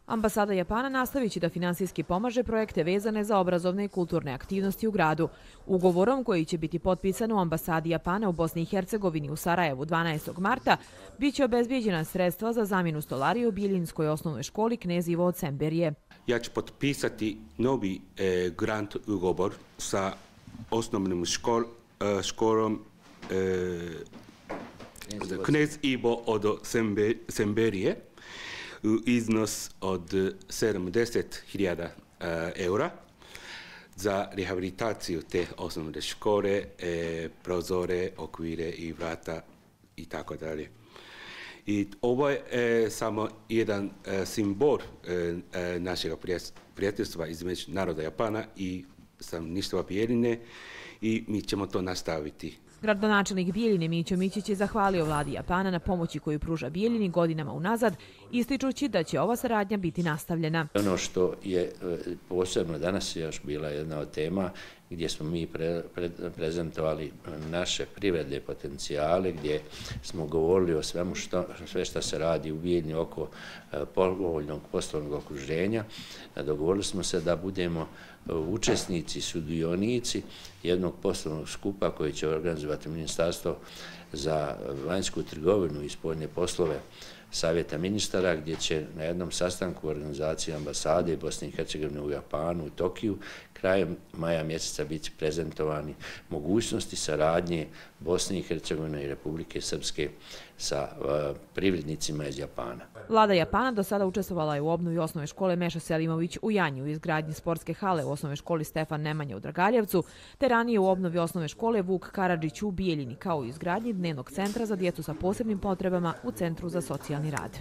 Ambasada Japana nastavit će da finansijski pomaže projekte vezane za obrazovne i kulturne aktivnosti u gradu. Ugovorom koji će biti potpisan u ambasadi Japana u Bosni i Hercegovini u Sarajevu 12. marta biće obezbijeđena sredstva za zamjenu stolarije u Bijeljinskoj osnovnoj školi Knez Ivo od Semberije. Ja ću potpisati novi grant ugovor sa osnovnom školom Knez Ivo od Semberije u iznos od 70.000 eura za rehabilitaciju te osnovne škole, prozore, okvire i vrata i tako dalje. I ovo je samo jedan simbol našeg prijateljstva između naroda Japana i stanovništva Bijeljine i mi ćemo to nastaviti. Gradonačelnik Bijeljine Mićo Mićić je zahvalio vladi Japana na pomoći koju pruža Bijeljini godinama unazad, ističući da će ova saradnja biti nastavljena. Ono što je posebno danas još bila jedna od tema gdje smo mi prezentovali naše privredne potencijale, gdje smo govorili o svemu sve što se radi u Bijeljini oko povoljnog poslovnog okruženja. Dogovorili smo se da budemo učesnici, sudionici jednog poslovnog skupa koji će organizovati Ministarstvo za vanjsku trgovinu i spoljne poslove Savjeta ministara, gdje će na jednom sastanku organizacije ambasade Bosne i Hercegovine u Japanu, u Tokiju, krajem maja mjeseca biti prezentovani mogućnosti saradnje Bosne i Hercegovine i Republike Srpske sa privrednicima iz Japana. Vlada Japana do sada učestvovala je u obnovi osnovne škole Meša Selimović u Janju, u izgradnji sportske hale u osnovnoj školi Stefan Nemanja u Dragaljevcu, te ranije u obnovi osnovne škole Vuk Karadžić u Bijeljini, kao i izgradnji dnevnog centra za djecu sa posebnim potrebama u Centru za socijalni rad.